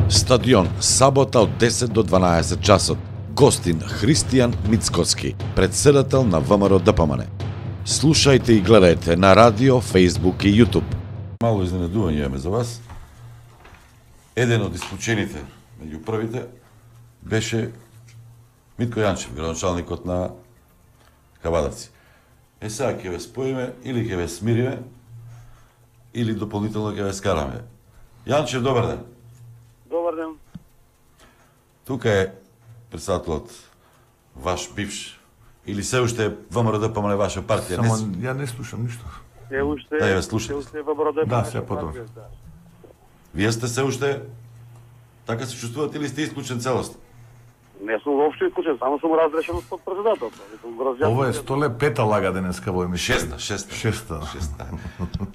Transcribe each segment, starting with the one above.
Стадион, сабота од 10 до 12 часот. Гостин Христијан Мицкоски, председател на ВМРО ДПМН. Слушајте и гледајте на радио, Facebook и YouTube. Мало изненадување имаме за вас. Еден од исклучените меѓу првите беше Митко Јанчев, градоначалникот на Кавадовци. Сега ќе ве споиме или ќе ве смириме, или дополнително ќе ве скараме. Јанчев, добар ден. Добар ден. Тука е председателот ваш бивш, или се уште ВМРО ДПМН ваша партија? Само ја не слушам ништо. Се уште. Да, ја слушам. Се уште ВМРО ДПМН. Да, се потом. Вие сте се уште така се чувствувате или сте исклучен целосно? Не сум воопшто исклучен, само сум разрешен од председател. Ова е 105-та лага денеска во емисија. Шеста.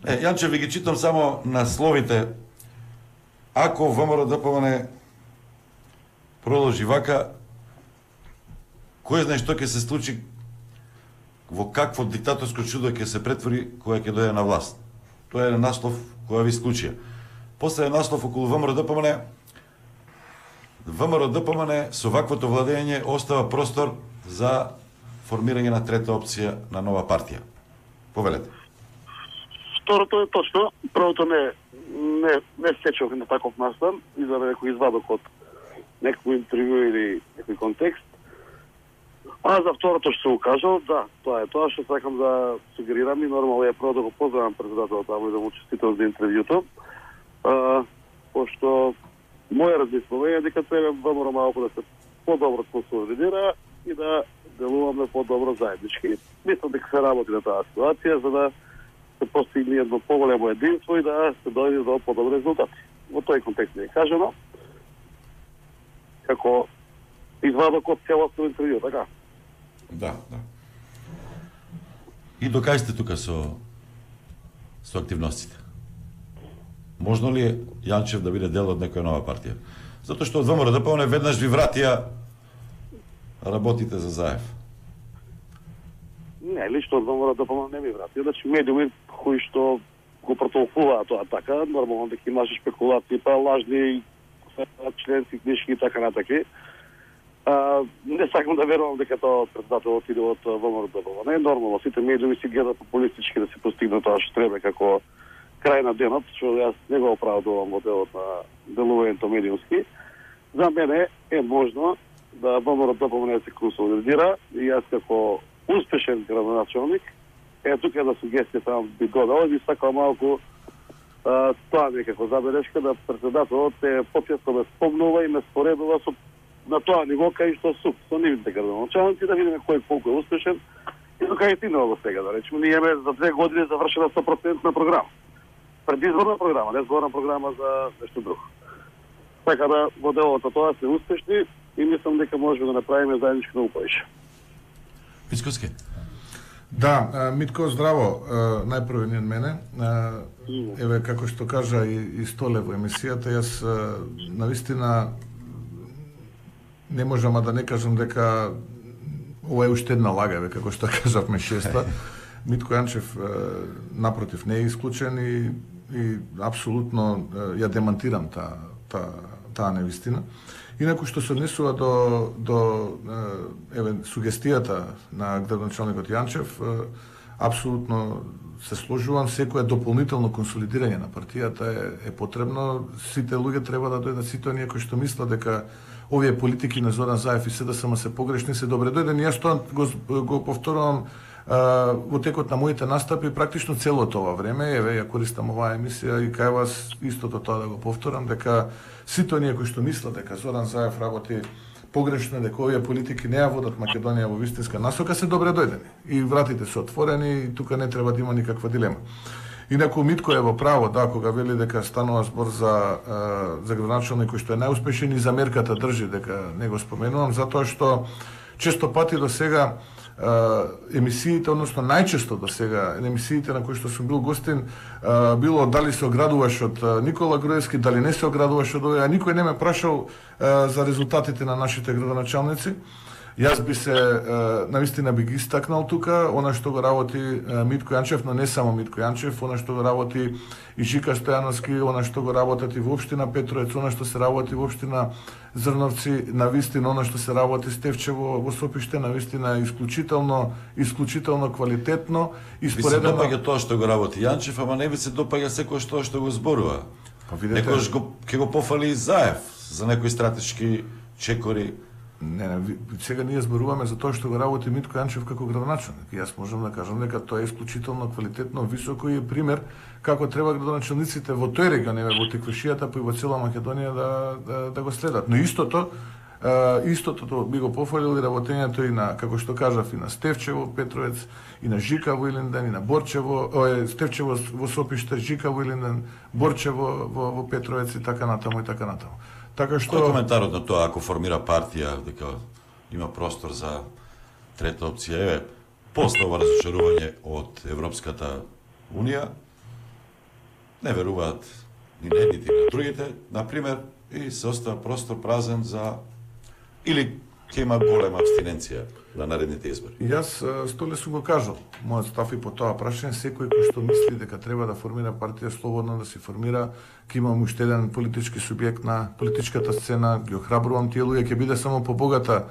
Јанче, ви ги читам само насловите. Ако ВМРО ДПМН продолжи вака, кој знае што ќе се случи, во какво диктаторско чудо ќе се претвори кога ќе дојде на власт. Тоа е наслов која ви исклучија. После е наслов околу ВМРО ДПМН. ВМРО ДПМН со ваквото владење остава простор за формирање на трета опција на нова партија. Повелете. Второто е точно. Првото не сечов на таков настан, изаде некој извадок од некој интервју или некој контекст. А за второто што се укажал, да, тоа е тоа што сакам да сугерирам и нормално е прво да го поздравам председателот таму и да му честитам за интервјуто. Пошто моје размислување е дека треба ВМРО малку да се подобро консолидира и да делуваме подобро заеднички. Мислам дека се работи на таа ситуација за да се постигне едно поголемо единство и да се дојде до подобри резултати. Во тој контекст не е кажано како извадок од целосно интервју, така? Да. И докај сте тука со активностите? Можно ли е Јанчев да биде дел од некоја нова партија? Затоа што од ВМРО ДПМН веднаш ви вратија работите за Заев. Не, лично од ВМРО ДПМН не ми вратија. Значи медиуми кои што го протолкуваат тоа така, нормално дека имаше спекулации, па лажни членски книжки и така натаки. Не сакам да верувам дека тоа председателот иде од ВМРО ДПМН. Нормално сите медиуми си гледат популистички да се постигне тоа што треба како крај на денот, што јас не го оправдувам во делот на делувањето медиумски. За мене е можно да ВМРО ДПМН се консолидира и јас како успешен градоначалник, тука една сугестија само би додал и би сакал малку тоа некако забелешка да председателот почесто ме спомнува и ме споредува со на тоа ниво кај што сум со нивните градоначалници да видиме кој колку е успешен и до кај стигнува во сега, да речеме. Ние имаме за 2 години завршена 100% програма. Предизборна програма, не зборна програма за нешто друго. Така да во делот на тоа сме успешни и мислам дека можеме да направиме заеднички многу повеќе. Мицкоски. Да, Митко, здраво. Најпрво ни од мене. Еве, како што кажа и Столе во емисијата, јас навистина не можам да не кажам дека ова е уште една лага, еве, како што кажавме шеста. Митко Јанчев, напротив, не е исклучен и апсолутно ја демантирам таа невистина. Инаку што се однесува до сугестијата на градоначалникот Јанчев, апсолутно се сложувам. Секое дополнително консолидирање на партијата е потребно. Сите луѓе треба да дојдат, сите оние кои што мислат дека овие политики на Зоран Заев и СДСМ се погрешни, се добре дојдени. Јас тоа го повторувам во текот на моите настапи практично целото ова време. Еве, ја користам оваа емисија и кај вас истото тоа да го повторам, дека сите оние кои што мислат дека Зоран Заев работи погрешно, дека овие политики не ја водат Македонија во вистинска насока, се добре дојдени. И вратите се отворени и тука не треба да има никаква дилема. Инаку Митко е во право, да, кога вели дека станува збор за градоначалник кој што е најуспешен и за мерката држи дека не го споменувам, затоа што често пати до сега емисиите, односно најчесто до сега емисиите на кои што сум бил гостин, било дали се оградуваш од Никола Груевски, дали не се оградуваш од овој, а никој не ме прашал за резултатите на нашите градоначалници. Јас би се навистина би ги истакнал тука она што го работи Митко Јанчев, но не само Митко Јанчев, она што го работи и Жика Стојановски, она што го работат и во општина Петровец, она што се работи во општина Зрновци, навистина она што се работи Стефчево во Сопиште, навистина исклучително квалитетно и споредено. Ви се допаѓа тоа што го работи Јанчев, ама не ви се допаѓа секој што го зборува. Некојаш ќе го пофали и Заев за некои стратешки чекори. Не, сега ние зборуваме за тоа што го работи Митко Јанчев како градоначелник. Јас можам да кажам дека тоа е исклучително квалитетно, високо и пример како треба градоначелниците во тој регион, во Теквешијата, па и во цела Македонија да го следат. Но истото би го пофалил и работењето и на, како што кажав, и на Стефчево, Петровец, и на Жика во Илинден, и на Борчево, Стефчево во Сопиште, Жика во Илинден, Борчево во Петровец и така натаму и така натаму. Така што кој коментарот на тоа ако формира партија дека има простор за трета опција? Еве, после ова разочарување од Европската Унија, не веруваат ни на едните ни на другите, например, и се остава простор празен за или ќе има голема абстиненција на наредните избори. Јас столе сум го кажал, мојот став и по тоа прашање, секој кој што мисли дека треба да формира партија, слободно да се формира, ќе имам уште еден политички субјект на политичката сцена, ги охрабрувам тие луѓе, ќе биде само побогата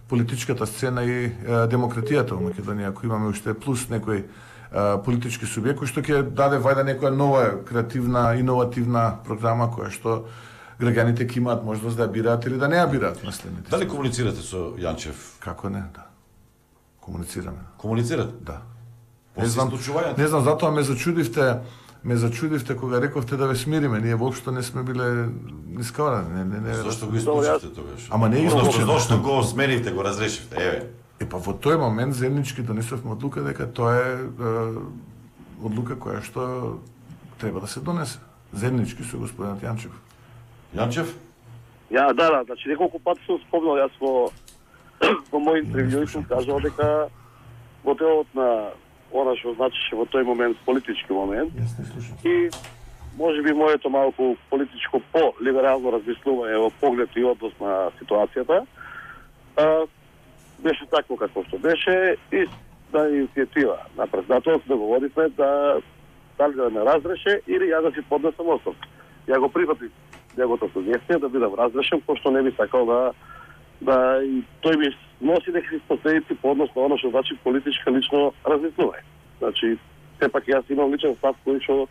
политичката сцена и демократијата во Македонија, ако имаме уште плюс некој политички субјект кој што ќе даде вајда некоја нова креативна, иновативна програма која што граѓаните ќе имаат можност да ја бираат или да не ја бираат наследните. Дали комуницирате со Јанчев? Како не, да. Комуницираме. Комуницирате? Да. Не знам, затоа ме зачудивте кога рековте да ве смириме. Ние воопшто не сме биле нискаварани. Зошто го исклучивте тогаш? Ама не исклучивте. Зошто го сменивте, го разрешивте? Еве. Па во тој момент заеднички донесовме одлука дека тоа е одлука која што треба да се донесе. Заеднички со господинот Јанчев. Јанчев? Да, значи неколку пати сум спомнал јас во мој интервју сум кажал дека во делот на она што значеше во тој момент политички момент и можеби моето малку политичко по-либерално размислување во поглед и однос на ситуацијата беше такво како што беше и на иницијатива на председателот да го водиме дали да ме разреше или ја да си поднесам оставка. Ја го прифатив неговото сугестија да бидам разрешен, пошто не би сакал да и тој ми носи некакви последици по однос на оно што значи политичка лично размислување. Значи, сепак јас имам личен став кој што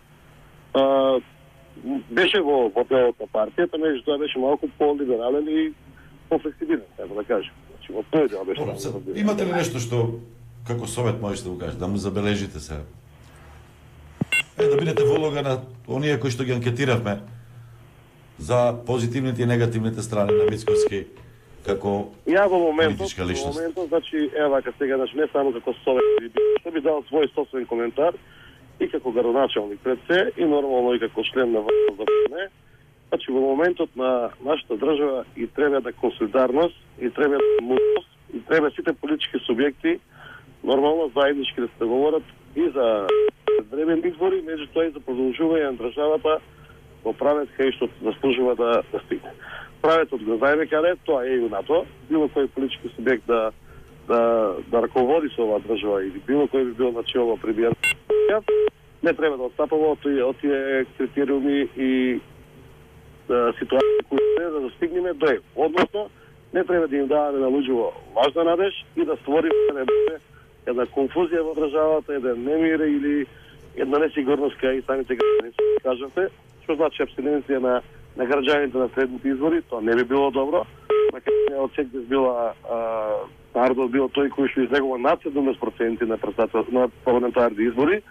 беше во делот на партијата, меѓутоа беше малку по-либерален и по-флексибилен, како да кажем. Значи, во тој дел беше. Имате ли нешто што како совет можете да го кажете, да му забележите сега? Да бидете во улога на оние кои што ги анкетиравме за позитивните и негативните страни на Мицкоски како политичка личност. Во моментот, значи, вака сега, значи, не само како совет, што би дал свој собствен коментар и како градоначелник пред се, и нормално и како член на ВДПМ. Значи, во моментот на нашата држава и треба да консолидарност, и треба мудрост, и треба сите политички субјекти нормално заеднички да се говорат и за времени избори, меѓутоа и за продолжување на државата во правец кај што заслужува да стигне. Правецот го знаеме каде, тоа е и унато, било кој политички субјект да раководи со оваа држава или било кој би бил начело премиерот, не треба да отстапува од тие критериуми и ситуации кои треба да достигнеме до еве. Односно, не треба да им даваме на луѓето важна надеж и да створиме една конфузија во државата, еден немир или една несигурност кај самите граѓани, кажете, што значи абстиненција на граѓаните на следните избори, тоа не би било добро. Македонија од секогаш била народот бил тој кој што излегува над 70% на парламентарни избори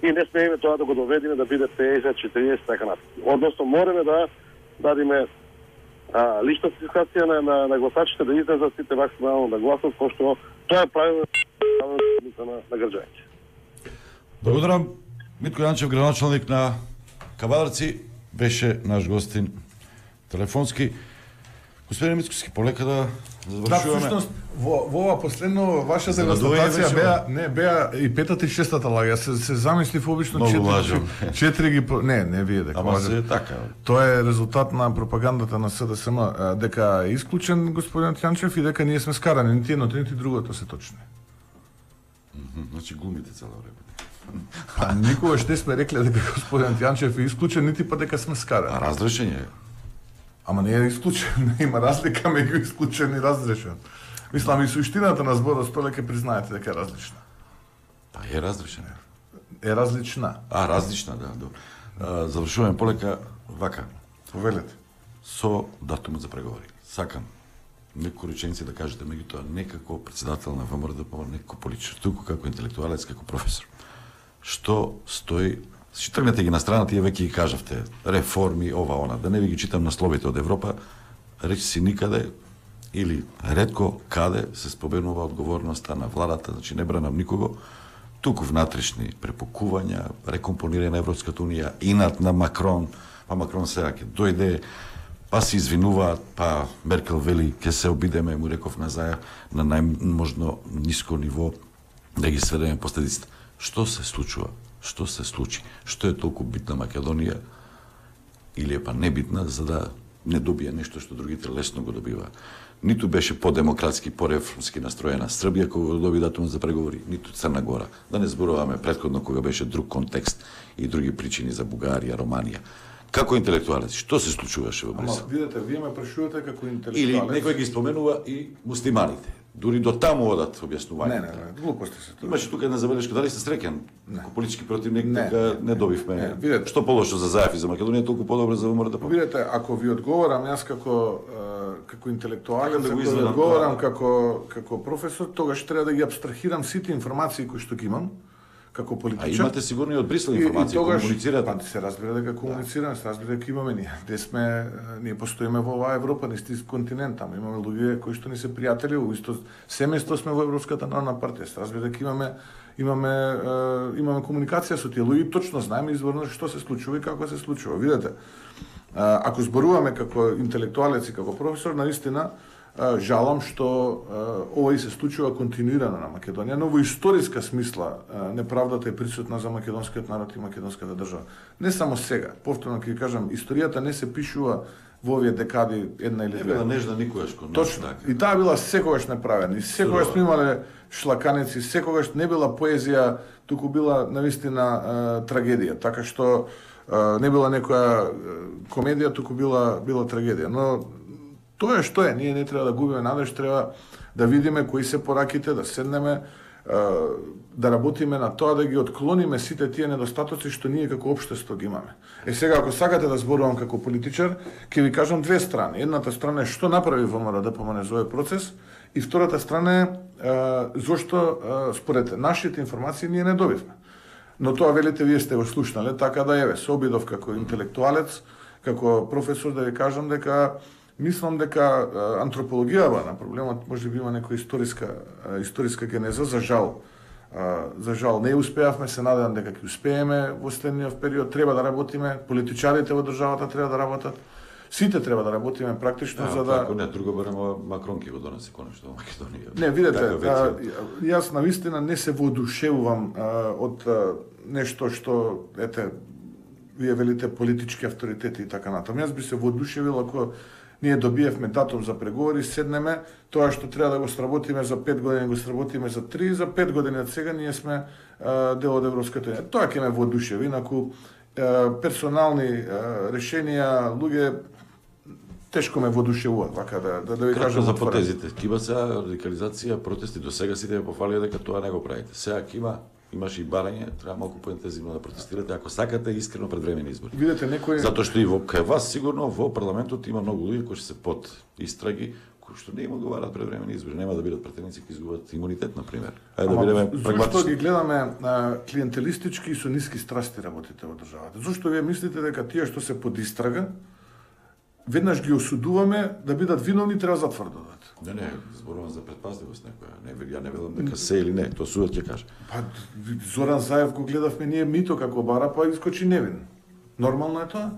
и не смееме тоа да го доведеме да биде 50-40 така натаму. Односно мораме да дадиме лична ситуација на гласачите да излезат сите максимално да гласат, пошто тоа е правилно на граѓаните. Благодарам. Митко Јанчев, градоначелник на Кавадарци, беше наш гостин телефонски. Господин Мицкоски, полека да Да, завршуваме. всушност, во ова последно вашата За надување констатација беа и петата и шестата лага. Јас се замислив обично Многу лажам. четири ги не вие дека Ама лажам. се така. Тоа е резултат на пропагандата на СДСМ, дека е исклучен господинот Јанчев и дека ние сме скарани, нити едното, нити другото се точни. Значи глумите цело време. А никогаш не сме рекле дека господинот Јанчев е исклучен, нити па дека сме скарани. А разрешение е. Ама не е исклучен, има разлика меѓу исклучен и разрешен. Мислам и суштината на зборот Столе ќе признаете дека е различна. Па е разрешение. Е различна. Различна, да, добро. Завршуваме полека вака. Повелете. Со датумот за преговори. Сакам некои реченици да кажете, меѓутоа не како председател на ВМРО, не како политичар, туку како интелектуалец, како професор. Што стои, си тргнете ги на страна, тие веќе ги кажавте, реформи, ова, она, да не ви ги читам насловите од Европа, речи си никаде или ретко каде се споменува одговорноста на владата, значи не бранам никого, туку внатрешни препокувања, рекомпонирање на Европската унија, инат на Макрон, па Макрон сега ќе дојде, па се извинуваат, па Меркел вели ќе се обидеме, му реков назаја, на најможно ниско ниво да ги сведеме последиците. Што се случува? Што се случи? Што е толку битна Македонија или е па небитна за да не добие нешто што другите лесно го добиваа? Ниту беше по-демократски, по-реформски настроена Србија кога доби датумот за преговори, ниту Црна Гора. Да не зборуваме претходно кога беше друг контекст и други причини за Бугарија, Романија. Како интелектуалец, што се случуваше во Брисел? Ама видете, вие ме прашувате како Или интелектуалец. некој ги споменува и муслиманите. Дури до таму одат објаснувањата. Не, глупости се тоа. Имаше тука една забелешка, дали сте среќен? Како политички противник, Не, дека не добивме. не, видете. Што полошо за Заев и за Македонија, толку подобро за ВМРО да. Видете, ако ви одговорам јас како интелектуалец, Така да го ако ви изгледам, одговорам да. како професор, тогаш треба да ги абстрахирам сите информации кои што ги имам како А политичар. имате сигурно и од Брисел информации, комуницирате. Па се разбира дека комуницираме, се разбира дека имаме ние. Ние постоиме во оваа Европа, на истински континент, тamo имаме луѓе кои што ни се пријатели, во исто семејство сме во Европската народна партија. Се разбира дека имаме комуникација со тие луѓе, точно знаеме изворно што се случува и како се случува. Видете, ако зборуваме како интелектуалец и како професор, наистина жалам што ова и се случува континуирано на Македонија, но во историска смисла неправдата е присутна за македонскиот народ и македонската држава. Не само сега, повторно ќе ви кажам, историјата не се пишува во овие декади една или Не две. била нежна никогаш кон нас. Точно. Така. И таа била секогаш направена. И секогаш сме имале шлаканици, секогаш не била поезија, туку била навистина трагедија. Така што не била некоја комедија, туку била трагедија. Но тоа е што е, ние не треба да губиме надеж, треба да видиме кои се пораките, да седнеме, да работиме на тоа, да ги отклониме сите тие недостатоци што ние како општество ги имаме. Сега, ако сакате да зборувам како политичар, ќе ви кажам две страни. Едната страна е што направи ВМРО да помане за овој процес, и втората страна е зошто според нашите информации ние не добивме. Но тоа велите вие сте го слушнале, така да еве, се обидов како интелектуалец, како професор да ви кажам дека мислам дека антропологијава на проблемот може би има некоја историска генеза, за жал не успеавме, се надевам дека ќе успееме во следниот период, треба да работиме, политичарите во државата треба да работат, сите треба да работиме практично за да... Ако не, друго баремо Макрон ќе го донесе конечно во Македонија. Не, видете, јас навистина не се воодушевувам од нешто што, ете, вие велите политички авторитети и така натаму. Јас би се воодушевил ако ние добиевме датум за преговори, седнеме, тоа што треба да го сработиме за 5 години, го сработиме за 3, за 5 години од сега ние сме дел од Европската унија. Тоа ќе ме воодушеви, инаку персонални решенија, луѓе тешко ме воодушевуваат, вака да ви кажам за отворено. потезите. Кима сега радикализација, протести, до сега сите ја пофалија дека тоа не го правите. Сега имаше и барање, треба малку поинтензивно да протестирате, ако сакате искрено пред времени избори. Видете некој Затоа што и кај вас сигурно во парламентот има многу луѓе кои се под истраги, кои што не им одговараат пред времени избори, нема да бидат претендици ќе изгубат имунитет на пример. Ајде да бидеме Зошто прагматични. ги гледаме клиентелистички и со ниски страсти работите во државата? Зошто вие мислите дека тие што се под истрага веднаш ги осудуваме да бидат виновни, треба затвор да дадат? Не, зборувам за предпазливост некоја. Ја не велам дека се или не, тоа судот ќе каже. Па Зоран Заев го гледавме ние мито како бара, па искочи невин. Нормално е тоа?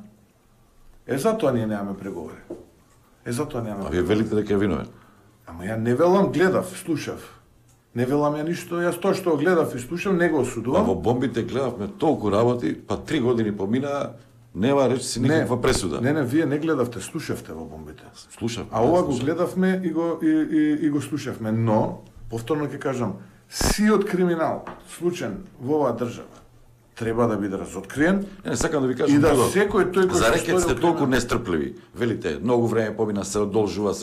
Затоа ние немаме преговори. Затоа немаме. А вие велите дека е виновен. Ама ја не велам, гледав, слушав. Не велам ја ништо, јас тоа што гледав и слушав, не го осудувам. Во бомбите гледавме толку работи, па 3 години поминаа, нема речи никаква пресуда. Не, вие не гледавте, слушавте во бомбите. Слушав. А ова го гледавме и го слушавме, но повторно ќе кажам, сиот криминал случен во оваа држава треба да биде разоткриен. Не сакам да ви кажам и да секој тој кој за рекет сте толку нестрпливи. Велите, многу време помина, се одолжува,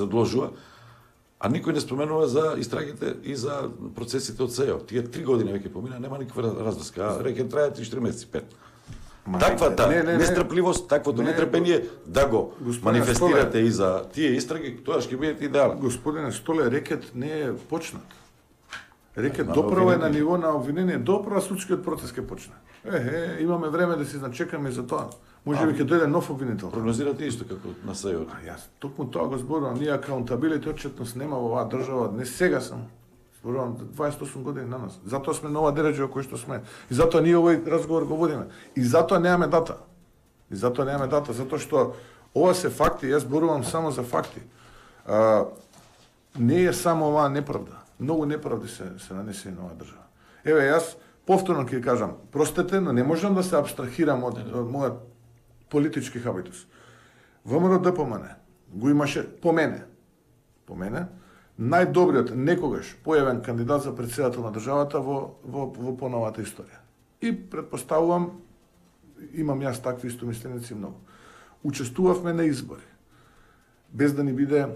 а никој не споменува за истрагите и за процесите од СЕО. Тие 3 години веќе помина, нема никаква разврска. Рекет трае 3-4 месеци, 5. Таквата нестрпливост, таквото нетрпение да го манифестирате и за тие истраги, тоа ќе бидете идеален. Господине Столе, рекет не е почнат. Рекет доправо е на ниво на обвинение, доправо судскиот процес ќе почне. Имаме време да се зачекаме за тоа. Може би ќе дојде нов обвинител. Прогнозирате исто како на СЕО. Јас токму тоа го зборувам, ние акаунтабилити отчетност нема во оваа држава, не сега сам. Зборувам 28 години на нас. Затоа сме на оваа дереџа кој што сме. И затоа ние овој разговор го водиме. И затоа немаме дата. Затоа што ова се факти, јас зборувам само за факти. Не е само оваа неправда. Многу неправди се нанесени на оваа држава. Еве, јас повторно ќе кажам, простете, но не можам да се абстрахирам од мојот политички хабитус. ВМРО ДПМН го имаше по мене најдобриот некогаш појавен кандидат за претседател на државата во поновата историја. И претпоставувам, имам јас такви истомисленици многу. Учествувавме на избори, без да ни биде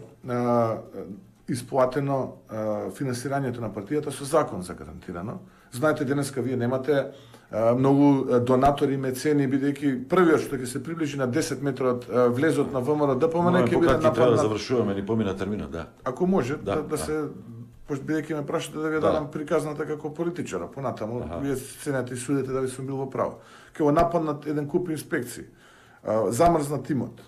исплатено финансирањето на партијата со закон загарантирано. Знаете, денеска вие немате многу донатори, мецени, бидејќи првиот што ќе се приближи на 10 метри од влезот на ВМРО ДПМН ќе биде нападнат. Треба да завршуваме, ни помина терминот, да. Ако може да се, бидејќи ме прашате да ви дадам приказната како политичара, понатаму вие ценете и судите дали сум бил во право. Ќе го нападнат еден куп инспекции, замрзнат имот,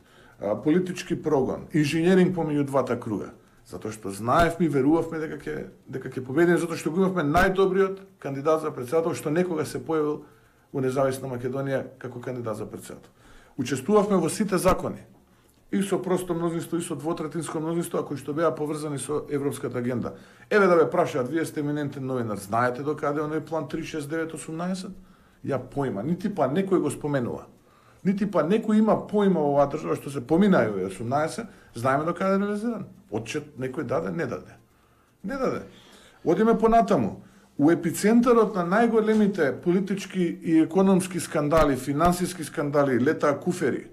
политички прогон, инженеринг помеѓу двата круга. Затоа што знаевме и верувавме дека ќе победиме, затоа што го имавме најдобриот кандидат за претседател што некога се појавил во независна Македонија како кандидат за претседател. Учествувавме во сите закони, и со просто мнозинство, и со двотретинско мнозинство, кои што беа поврзани со европската агенда. Еве да ве прашаат, вие сте еминентен новинар, знаете докаде оној план 36918? Ја појма, нити па некој го споменува. Нити па некој има појма во оваа држава што се помина и 18, знаеме докаде е реализиран. Отчет некој даде, не даде. Одиме понатаму. У епицентарот на најголемите политички и економски скандали, финансиски скандали, летаа куфери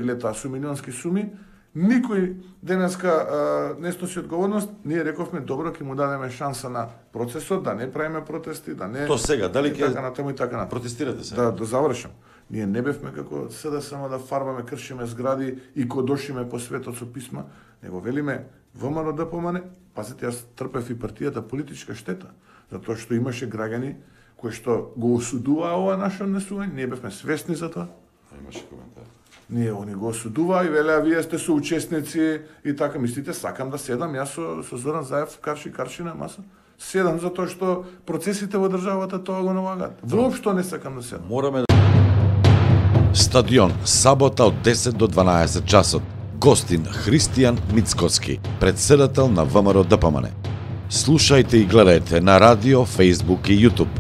летаа со милионски суми, никој денеска не сноси одговорност. Ние рековме, добро, ќе му дадеме шанса на процесот, да не правиме протести, да не... То сега, дали ќе така натаму. Протестирате сега? Да завршам. Ние не бевме како СДСМ само да фарбаме, кршиме згради и кодошиме по светот со писма, него велиме ВМРО ДПМН, пазете, јас трпев и партијата политичка штета, затоа што имаше граѓани кои што го осудуваа ова наше однесување, ние бевме свесни за тоа. Имаше коментар. Ние они го осудуваа и велеа, вие сте соучесници и така, мислите, сакам да седам јас со Зоран Заев карши на маса? Седам затоа што процесите во државата тоа го налагаат. Воопшто не сакам да седам. Мораме Стадион, сабота од 10 до 12 часот. Гостин Христијан Мицкоски, претседател на ВМРО ДПМН. Слушајте и гледајте на радио, Facebook и YouTube.